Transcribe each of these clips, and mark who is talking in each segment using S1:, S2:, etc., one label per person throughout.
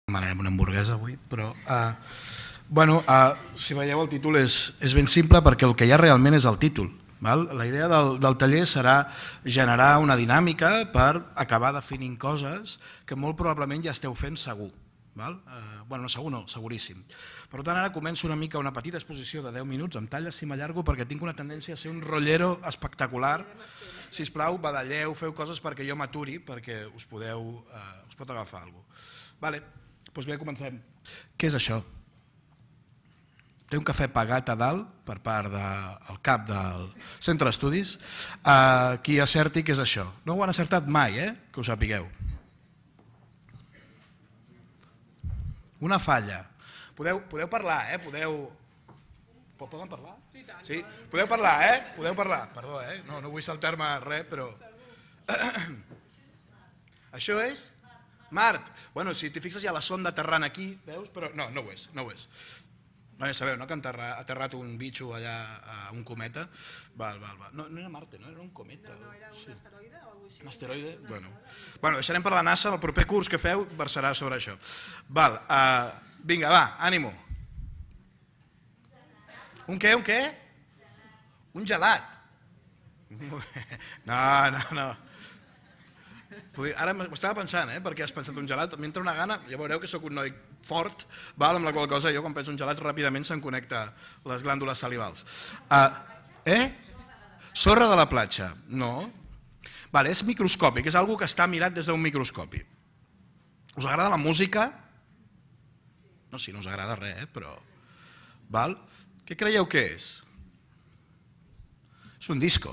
S1: demanarem una hamburguesa avui, però si veieu el títol és ben simple perquè el que hi ha realment és el títol. La idea del taller serà generar una dinàmica per acabar definint coses que molt probablement ja esteu fent segur. No segur no, seguríssim. Per tant, ara començo una mica una petita exposició de 10 minuts, em talles si m'allargo perquè tinc una tendència a ser un rollero espectacular. Sisplau, badalleu, feu coses perquè jo m'aturi, perquè us pot agafar alguna cosa. Doncs bé, comencem. Què és això? Té un cafè pagat a dalt per part del cap del centre d'estudis. Qui acerti què és això. No ho han acertat mai, que ho sapigueu. Una falla. Podeu parlar, Poden parlar? Sí, podeu parlar, Podeu parlar. Perdó, no vull saltar-me res, però... Això és? Mart. Bueno, si t'hi fixes hi ha la sonda aterrant aquí, veus? Però no ho és. Ja sabeu, no?, que ha aterrat un bitxo allà a un cometa. No era Marte, no? Era un cometa.
S2: No, era un asteroide o alguna cosa així.
S1: Un asteroide? Bueno, deixarem per la NASA, el proper curs que feu versarà sobre això. Vinga, va, ànimo. Un què? Un gelat. No. Ara m'ho estava pensant, perquè has pensat un gelat, m'entra una gana, ja veureu que sóc un noi fort, amb la qual cosa jo quan penso un gelat ràpidament se'm connecta les glàndules salivals. Sorra de la platja, no. És microscòpic, és una cosa que està mirat des d'un microscopi. Us agrada la música? No, si no us agrada res, però... Què creieu que és? És un disco.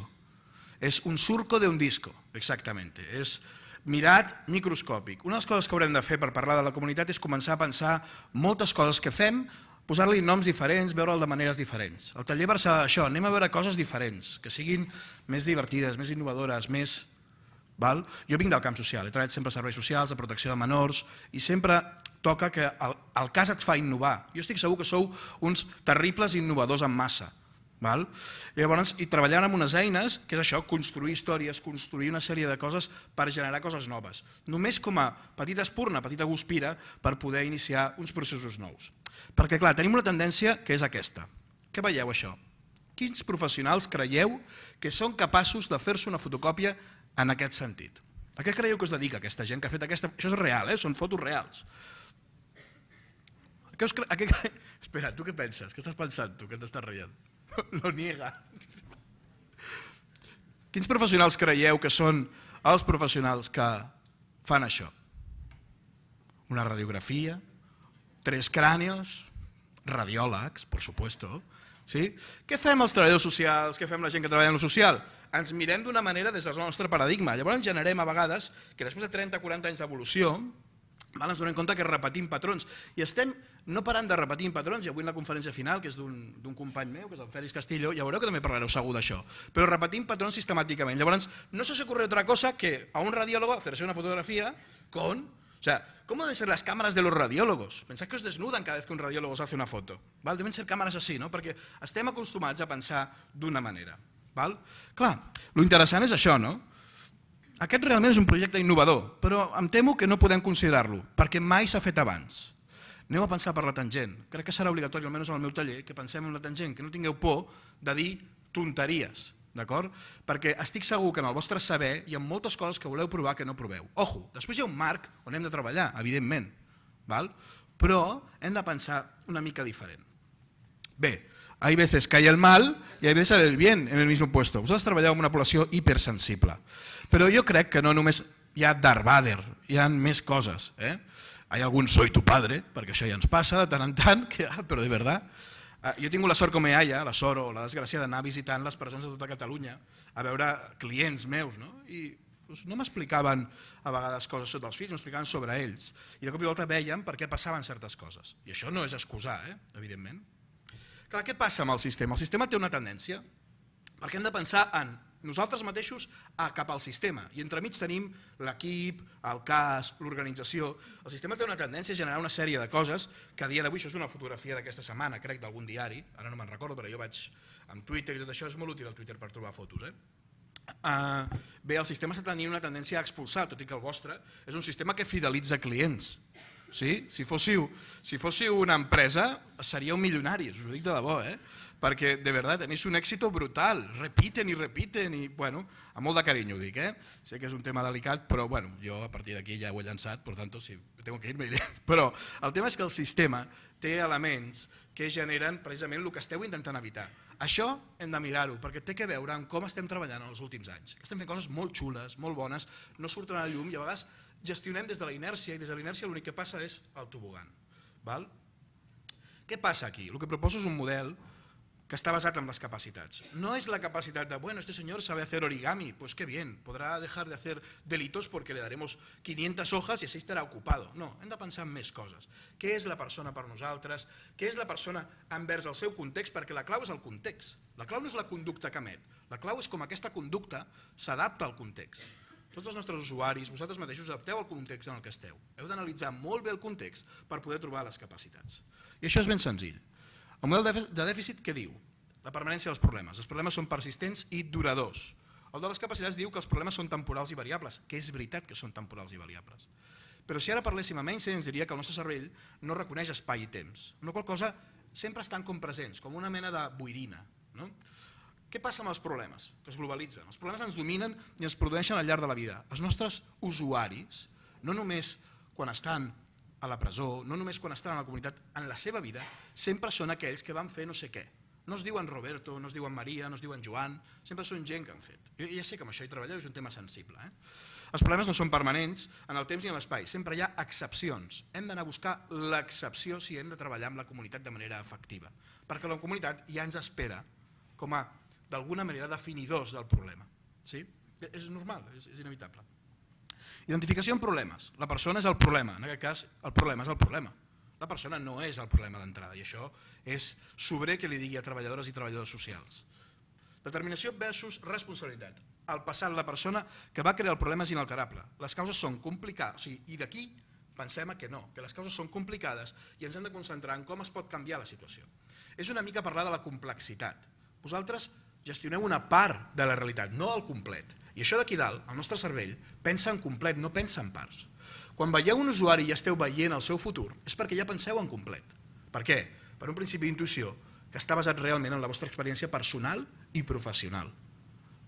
S1: És un surco d'un disco, exactament. És mirat microscòpic. Una de les coses que haurem de fer per parlar de la comunitat és començar a pensar moltes coses que fem, posar-li noms diferents, veure'l de maneres diferents. El taller versarà d'això, anem a veure coses diferents, que siguin més divertides, més innovadores, més... Jo vinc del camp social, he treballat sempre a serveis socials, a protecció de menors, i sempre toca que el cas et fa innovar. Jo estic segur que sou uns terribles innovadors en massa. I treballant amb unes eines, que és això, construir històries, construir una sèrie de coses per generar coses noves. Només com a petita espurna, petita guspira, per poder iniciar uns processos nous. Perquè, clar, tenim una tendència que és aquesta. Què veieu, això? Quins professionals creieu que són capaços de fer-se una fotocòpia en aquest sentit? A què creieu que es dedica aquesta gent que ha fet aquesta... Això és real, són fotos reals. Espera, tu què penses? Què estàs pensant, tu, que t'estàs rient? Lo niega. Quins professionals creieu que són els professionals que fan això? Una radiografia, 3 crànios, radiòlegs, per supuesto. Què fem els treballadors socials, què fem la gent que treballa en lo social? Ens mirem d'una manera des del nostre paradigma. Llavors generem a vegades que després de 30-40 anys d'evolució ens donem compte que repetim patrons i estem no parant de repetir patrons, i avui en la conferència final, que és d'un company meu, que és el Félix Castillo, ja veureu que també parlareu segur d'això, però repetim patrons sistemàticament. Llavors, no se os ocurre otra cosa que a un radiólogo hacerse una fotografía con... O sea, ¿cómo deben ser las cámaras de los radiólogos? Pensad que os desnudan cada vez que un radiólogo os hace una foto. Deben ser càmeres així, no? Perquè estem acostumats a pensar d'una manera. Clar, lo interessant és això, no? Aquest realment és un projecte innovador, però em temo que no podem considerar-lo, perquè mai s'ha fet abans. Aneu a pensar per la tangent. Crec que serà obligatori, almenys en el meu taller, que pensem en la tangent, que no tingueu por de dir tonteries, d'acord? Perquè estic segur que en el vostre saber hi ha moltes coses que voleu provar que no proveu. Ojo, després hi ha un marc on hem de treballar, evidentment, però hem de pensar una mica diferent. Bé, hay veces que hay el mal y hay veces el bien en el mismo puesto. Vosaltres treballeu amb una població hipersensible. Però jo crec que no només hi ha Darth Vader, hi ha més coses. Hi ha algun soy tu padre, perquè això ja ens passa de tant en tant, però de veritat. Jo he tingut la sort com a iaia, la sort o la desgràcia d'anar visitant les presons de tota Catalunya a veure clients meus, i no m'explicaven a vegades coses sobre els fills, m'explicaven sobre ells. I de cop i volta veiem per què passaven certes coses. I això no és excusar, evidentment. Clar, què passa amb el sistema? El sistema té una tendència, perquè hem de pensar en nosaltres mateixos cap al sistema, i entremig tenim l'equip, el cas, l'organització. El sistema té una tendència a generar una sèrie de coses que a dia d'avui, això és una fotografia d'aquesta setmana, crec, d'algun diari, ara no me'n recordo, però jo vaig amb Twitter i tot això, és molt útil el Twitter per trobar fotos. Bé, el sistema està tenint una tendència a expulsar, tot i que el vostre és un sistema que fidelitza clients. Sí? Si fóssiu una empresa, seríeu milionaris, us ho dic de debò, perquè de veritat tenéis un éxito brutal, repiten i, bueno, amb molt de carinyo ho dic, sé que és un tema delicat, però bueno, jo a partir d'aquí ja ho he llançat, per tant, si tengo que ir, me iré. Però el tema és que el sistema té elements que generen precisament el que esteu intentant evitar. Això hem de mirar-ho, perquè té que veure amb com estem treballant en els últims anys. Estem fent coses molt xules, molt bones, no surten a la llum i a vegades gestionem des de la inèrcia i des de la inèrcia l'únic que passa és el tobogan. Què passa aquí? El que proposo és un model que està basat en las capacitats. No es la capacitat de, bueno, este señor sabe hacer origami, pues qué bien, podrá dejar de hacer delitos porque le daremos 500 hojas y así estarà ocupado. No, hem de pensar en més coses. Què és la persona per nosaltres? Què és la persona envers el seu context? Perquè la clau és el context. La clau no és la conducta que emet. La clau és com aquesta conducta s'adapta al context. Tots els nostres usuaris, vosaltres mateixos, adapteu al context en el que esteu. Heu d'analitzar molt bé el context per poder trobar les capacitats. I això és ben senzill. El model de dèficit què diu? La permanència dels problemes. Els problemes són persistents i duradors. El de les capacitats diu que els problemes són temporals i variables, que és veritat que són temporals i variables. Però si ara parléssim amb Einstein ens diria que el nostre cervell no reconeix espai i temps, amb la qual cosa sempre estan com presents, com una mena de boirina. Què passa amb els problemes? Que es globalitzen. Els problemes ens dominen i ens produeixen al llarg de la vida. Els nostres usuaris, no només quan estan a la presó, no només quan estan a la comunitat, en la seva vida, sempre són aquells que van fer no sé què. No es diuen Roberto, no es diuen Maria, no es diuen Joan, sempre són gent que han fet. Jo ja sé que amb això hi treballeu, és un tema sensible. Els problemes no són permanents en el temps ni en l'espai, sempre hi ha excepcions. Hem d'anar a buscar l'excepció si hem de treballar amb la comunitat de manera efectiva, perquè la comunitat ja ens espera com a, d'alguna manera, definidors del problema. És normal, és inevitable. Identificació amb problemes. La persona és el problema, en aquest cas el problema és el problema. La persona no és el problema d'entrada i això és sobrer que li digui a treballadores i treballadors socials. Determinació versus responsabilitat. El passat, la persona que va crear el problema és inalterable. Les causes són complicades, i d'aquí pensem que no, que les causes són complicades i ens hem de concentrar en com es pot canviar la situació. És una mica parlar de la complexitat. Vosaltres gestioneu una part de la realitat, no el complet. I això d'aquí dalt, el nostre cervell, pensa en complet, no pensa en parts. Quan veieu un usuari i esteu veient el seu futur, és perquè ja penseu en complet. Per què? Per un principi d'intuïció que està basat realment en la vostra experiència personal i professional.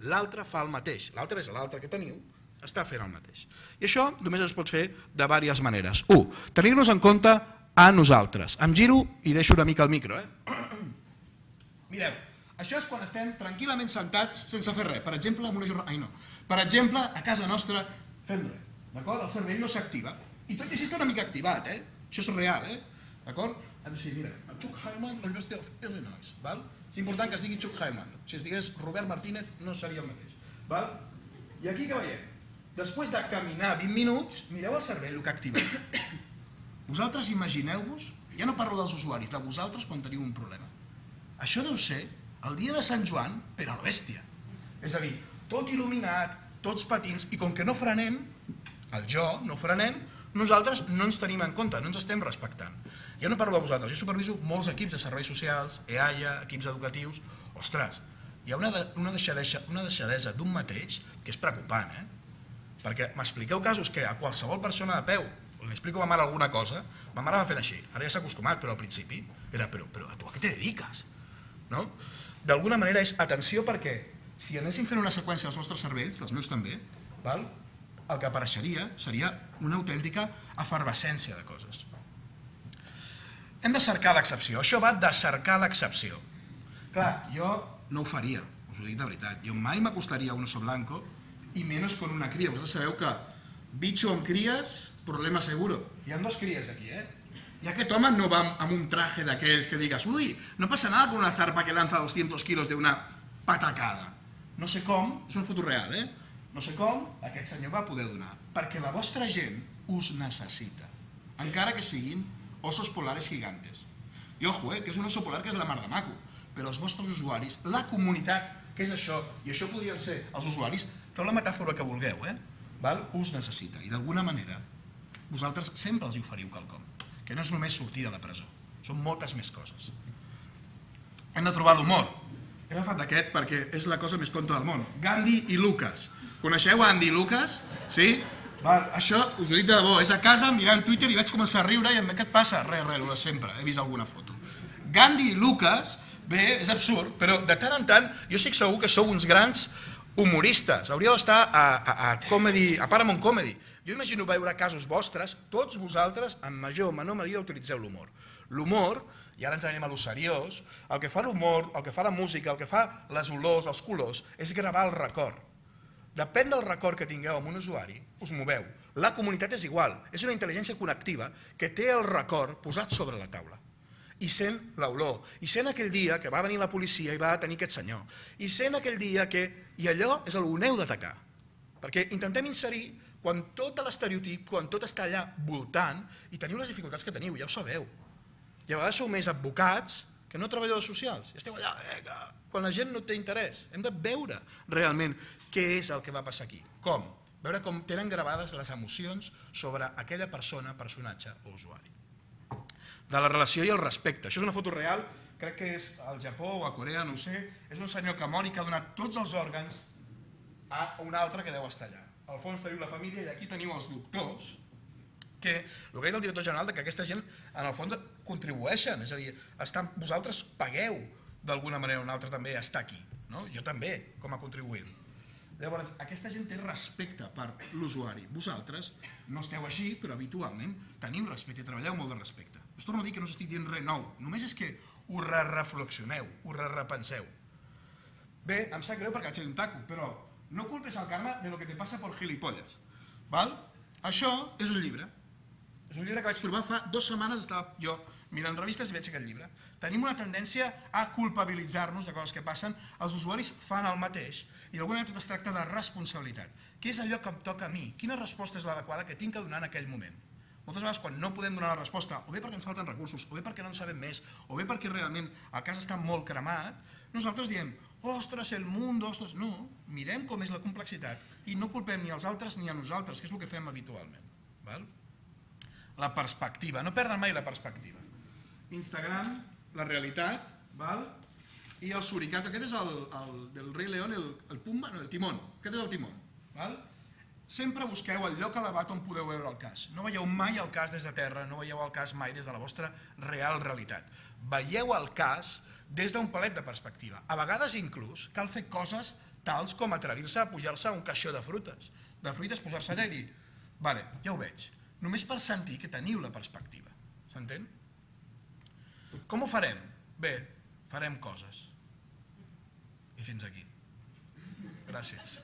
S1: L'altre fa el mateix, l'altre és l'altre que teniu, està fent el mateix. I això només es pot fer de diverses maneres. 1. Tenir-nos en compte a nosaltres. Em giro i deixo una mica el micro. Mireu, això és quan estem tranquil·lament sentats sense fer res. Per exemple, amb una jornada... Ai, no. Per exemple, a casa nostra fem res. D'acord? El cervell no s'activa. I tot i així està una mica activat, Això és real, D'acord? Ha de ser, mira, el Chuck Heyman, la University of Illinois, val? És important que es digui Chuck Heyman. Si es digués Robert Martínez, no seria el mateix. Val? I aquí què veiem? Després de caminar 20 minuts, mireu el cervell, el que ha activat. Vosaltres imagineu-vos, ja no parlo dels usuaris, de vosaltres quan teniu un problema. Això deu ser el dia de Sant Joan, però a la bèstia. És a dir, tot il·luminat, tots patins, i com que no frenem, el jo no frenem, nosaltres no ens tenim en compte, no ens estem respectant. Ja no parlo de vosaltres, jo superviso molts equips de serveis socials, EAIA, equips educatius. Ostres, hi ha una deixadesa d'un mateix que és preocupant, perquè m'expliqueu casos que a qualsevol persona de peu li explico a ma mare alguna cosa, ma mare va fent així, ara ja s'ha acostumat, però al principi era, però a tu a què te dediques? D'alguna manera és atenció perquè si anéssim fent una seqüència dels nostres cervells, dels meus també, el que apareixeria seria una autèntica efervescència de coses. Hem de cercar l'excepció, això va de cercar l'excepció. Clar, jo no ho faria, us ho dic de veritat, jo mai m'acostaria a un oso blanco i menys con una cria. Vosaltres sabeu que bicho amb cries, problema seguro. Hi ha dos cries aquí, I aquest home no va amb un traje d'aquells que digues ui, no passa nada con una zarpa que lanza 200 kilos de una patacada. No sé com, és una foto real, No sé com aquest senyor va poder donar, perquè la vostra gent us necessita, encara que siguin osos polares gigantes. I ojo, que és un oso polar que és la mar de maco, però els vostres usuaris, la comunitat, que és això, i això podrien ser els usuaris, feu la metàfora que vulgueu, us necessita, i d'alguna manera vosaltres sempre els oferiu quelcom, que no és només sortir de la presó, són moltes més coses. Hem de trobar l'humor. He agafat aquest perquè és la cosa més tonta del món. Gandhi i Lucas. Coneixeu Andy i Lucas? Sí? Això us ho dic de debò, és a casa mirant Twitter i vaig començar a riure i què et passa? Res, el de sempre, he vist alguna foto. Gandhi i Lucas, bé, és absurd, però de tant en tant jo estic segur que sou uns grans humoristes, hauríeu d'estar a Paramount Comedy. Jo imagino veure casos vostres, tots vosaltres en major o menor medida utilitzeu l'humor. L'humor, i ara ens anem a lo seriós, el que fa l'humor, el que fa la música, el que fa les olors, els colors, és gravar el record. Depèn del record que tingueu amb un usuari, us moveu. La comunitat és igual, és una intel·ligència connectiva que té el record posat sobre la taula. I sent l'olor, i sent aquell dia que va venir la policia i va detenir aquest senyor, i sent aquell dia que... I allò és el que heu d'atacar. Perquè intentem inserir quan tot l'estereotip, quan tot està allà voltant, i teniu les dificultats que teniu, ja ho sabeu. I a vegades sou més advocats que no treballadors socials. I esteu allà, quan la gent no té interès. Hem de veure realment què és el que va passar aquí. Com? Veure com tenen gravades les emocions sobre aquella persona, personatge o usuari. De la relació i el respecte. Això és una foto real, crec que és al Japó o a Corea, no ho sé. És un senyor que mor i que ha donat tots els òrgans a un altre que deu estar allà. Al fons teniu la família i aquí teniu els doctors, que el que ha dit el director general que aquesta gent en el fons contribueixen, és a dir, vosaltres pagueu d'alguna manera o una altra també estar aquí, jo també com a contribuent. Llavors, aquesta gent té respecte per l'usuari. Vosaltres no esteu així, però habitualment teniu respecte i treballeu molt de respecte. Us torno a dir que no us estic dient res nou, només és que ho reflexioneu, ho repenseu. Bé, em sap greu perquè vaig ser un taco, però no culpes al karma de lo que te pasa por gilipollas. Això és un llibre. És un llibre que vaig trobar fa 2 setmanes, estava jo mirant revistes i veig aquest llibre. Tenim una tendència a culpabilitzar-nos de coses que passen, els usuaris fan el mateix i d'alguna manera tot es tracta de responsabilitat. Què és allò que em toca a mi? Quina resposta és l'adequada que tinc que donar en aquell moment? Moltes vegades quan no podem donar la resposta, o bé perquè ens falten recursos, o bé perquè no en sabem més, o bé perquè realment el cas està molt cremat, nosaltres diem, ostres, el mundo, ostres, no, mirem com és la complexitat i no culpem ni als altres ni a nosaltres, que és el que fem habitualment. La perspectiva, no perdre mai la perspectiva. Instagram, la realitat, i el suricato, aquest és el del Rei León, el Pumba, no, el Timón, aquest és el Timón. Sempre busqueu el lloc elevat on podeu veure el cas. No veieu mai el cas des de terra, no veieu el cas mai des de la vostra real realitat. Veieu el cas des d'un palet de perspectiva. A vegades inclús cal fer coses tals com atrevir-se a pujar-se a un caixó de fruites, posar-se allà i dir, vale, ja ho veig, només per sentir que teniu la perspectiva. S'entén? Com ho farem? Bé, farem coses. I fins aquí. Gràcies.